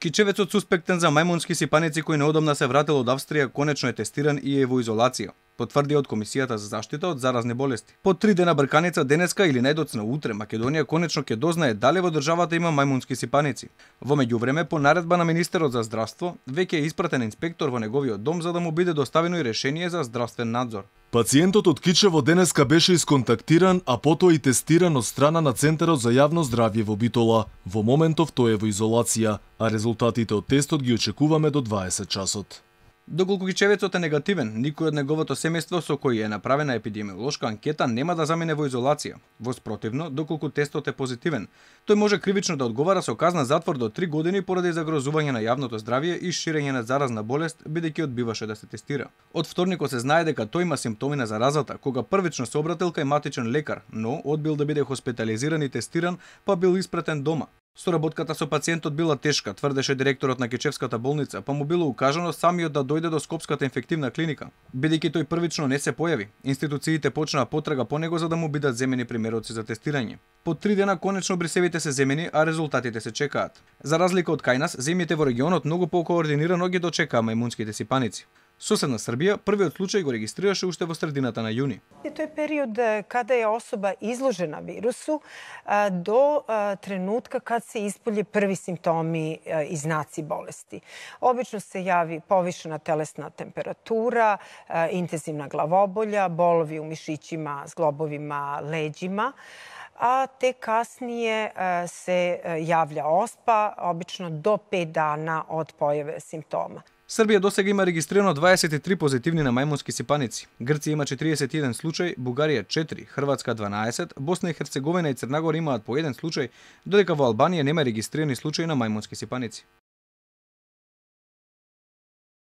Кичевецот суспектен за мајмунски сипаници кој неодамна се вратил од Австрија конечно е тестиран и е во изолација, потврди од Комисијата за заштита од заразни болести. По 3 дена брканица денеска или најдоцна утре Македонија конечно ќе дознае дали во државата има мајмунски сипаници. Во меѓувреме, по наредба на министерот за здравство, веќе е испратен инспектор во неговиот дом за да му биде доставено и решение за здравствен надзор. Пациентот од Кичево денеска беше исконтактиран, а потоа и тестиран од страна на Центарот за јавно здравје во Битола. Во моментов тој е во изолација, а резултатите од тестот ги очекуваме до 20 часот. Доколку Кичевецот е негативен, никој од неговото семејство со кој е направена епидемиолошка анкета нема да замине во изолација. Воспротивно, доколку тестот е позитивен, тој може кривично да одговара со казна затвор до 3 години поради загрозување на јавното здравје и ширење на заразна болест, бидејќи одбиваше да се тестира. Од вторникот се знае дека тој има симптоми на заразата, кога првично се обратил кај матичен лекар, но одбил да биде хоспитализиран и тестиран, па бил испратен дома. Соработката со пациентот била тешка, тврдеше директорот на Кичевската болница, па му било укажано самиот да дојде до Скопската инфективна клиника. Бидејќи тој првично не се појави, институциите почнаа потрага по него за да му бидат земени примероци за тестирање. По 3 дена конечно брисевите се земени, а резултатите се чекаат. За разлика од кај нас, земјите во регионот многу покоординирано ги дочекаа мајмунските сипаници. Соседна Србија првиот случај го регистрираше уште во средината на јуни. Тој е период када е особа изложена вирусу до тренутка кад се исполје први симптоми и знаци болести. Обично се јави повишена телесна температура, интензивна главоболја, болови у мишиќима, зглобовима, леđима, a te kasnije se javlja оспа, обично до 5 дана од појаве симптома. Србија досега има регистрирано 23 позитивни на мајмунски сипаници. Грција има 41 случај, Бугарија 4, Хрватска 12, Босна и Херцеговина и Црна Гора имаат по 1 случај, додека во Албанија нема регистрирани случаи на мајмунски сипаници.